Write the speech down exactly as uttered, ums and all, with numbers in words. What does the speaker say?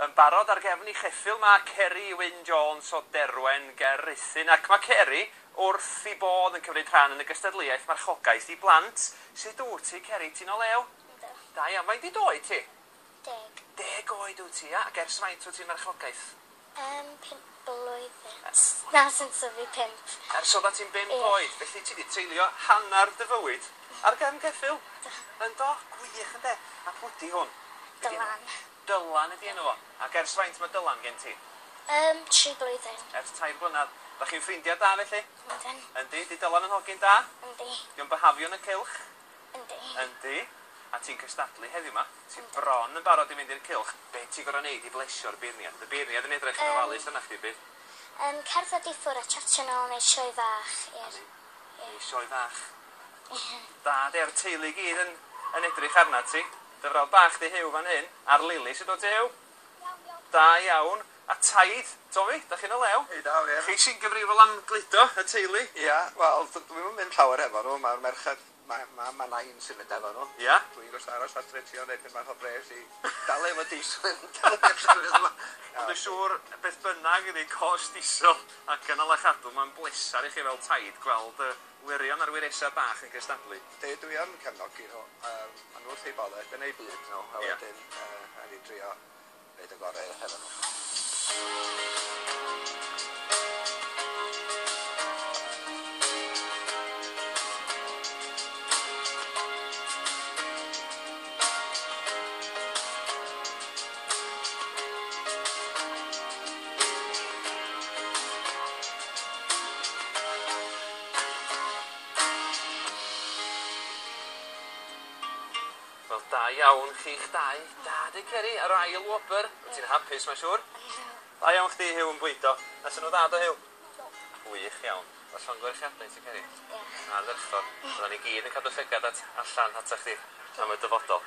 Yn barod ar gefn ei cheffyl mae Ceri Wyn Jones o Derwen ger Rhuthun, ac mae Ceri wrth ei bodd yn cymryd rhan yn y gystadleuaeth marchogaeth i blant. Sut wyt ti, Ceri? Ti'n o lew? Yndw. Da iawn. Faint 'di d'oed ti? Deg. Deg oed wyt ti, ia? Ac ers faint wyt ti'n marchogaeth? Um, pump blwyddyn. Na, since o fi pump. Ers oeddat ti'n bump Ie. oed, felly ti 'di treulio hanner dy fywyd ar gefn ceffyl? Yndo? Gwych, ynde? A pwy 'di hwn? Be 'di enw? Dylan. Dylan ydi enw fo. Ac ers faint mae Dylan gen ti? Um, tri blwyddyn. Ers tair blynedd. Da chi'n ffrindiau da felly? Yndyn. Yndi? Di Dylan yn hogyn da? Yndi. Di o'n byhafio yn y cylch? Yndi. Yndi. A ti'n cystadlu heddiw 'ma? Ti'n bron yn barod i fynd i'r cylch. Be ti'n gorfod neud i blesio'r beirniad? Y beirniad yn edrych yn Yym. ofalus arna chdi, bydd? Um, cerdded i ffwrdd a chatio nôl, neu sioe fach i'r... Neu sioe fach. Da, de'r teulu i gyd yn, yn edrych arna ti. Dy frawd bach di Huw fan hyn, a'r Lili. Sut wyt ti, Huw? Da iawn. A taid, Tomi, da chi'n o lew? Hei daw, ie. Chi sy'n gyfrifol am gludo y teulu? Ia, wel, d- dwi'm yn mynd llawer efo nhw, mae'r merched, mae ma, ma nain sy'n mynd efo nhw. Ia? Dwi'n gorfod aros adre trio neud pyn bach o bres i dal efo diesel yn dal efo llefydd yma. Ond dwi'n siŵr, beth bynnag ydi cost diesel a gynnal a chadw, mae'n blesar i chi fel taid gweld y wyrion a'r wyresau bach yn cystadlu. Yndi, dwi yn cefnogi nhw. Um, ma' nhw wrth eu boddau, dyna eu byd nhw, a Ie. wedyn uh, rhaid i drio neud y gorau hefo nhw. Wel, da iawn chi'ch dau. Da, di Ceri, ar ail wobr. Wyt ti'n hapus, mae'n siŵr? Da iawn chdi, Huw, yn bwydo. Nathon nhw dda, do, Huw? Gwych iawn. Wel, llongyfarchiadau i ti, Ceri. Diolch. Ardderchog. Fyddan ni gyd yn cadw llygad at, allan ata chdi am y dyfodol.